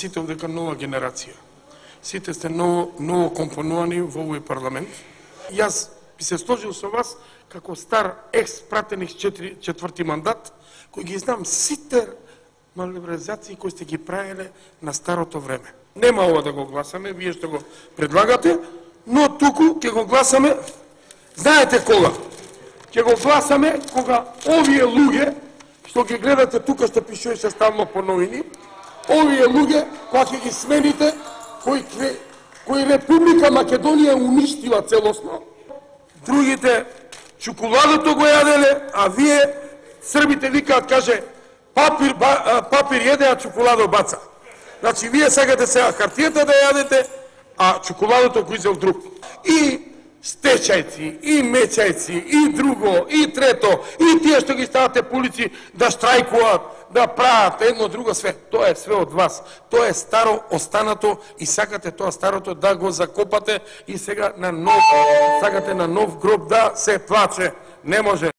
сите дека нова генерација. Сите сте ново компонувани во овој парламент. Јас би се сложил со вас како стар екс-пратеник четврти мандат, кој ги знам сите малиберализации кои сте ги правиле на старото време. Нема ова да го гласаме, вие што го предлагате, но туку ќе го гласаме, знаете кога? Ќе го гласаме кога овие луѓе, што ги гледате тука, што пишува се стално по новини, овие луѓе, кога ќе ги смените, кои Република Македонија уништила целосно, другите чоколадото го јаделе, а вие, србите викаат, каже, папир једе, а чоколадо баца. Значи, вие сакате сега хартијата да јадете, а чоколадото го изел друг. И стечајци, и мечајци, и друго, и трето, и тие што ги ставате по улици да штрајкуваат, да прават едно друго све. Тоа е све од вас. Тоа е старо останато и сакате тоа старото да го закопате и сега на нов, сакате на нов гроб да се плаче. Не може.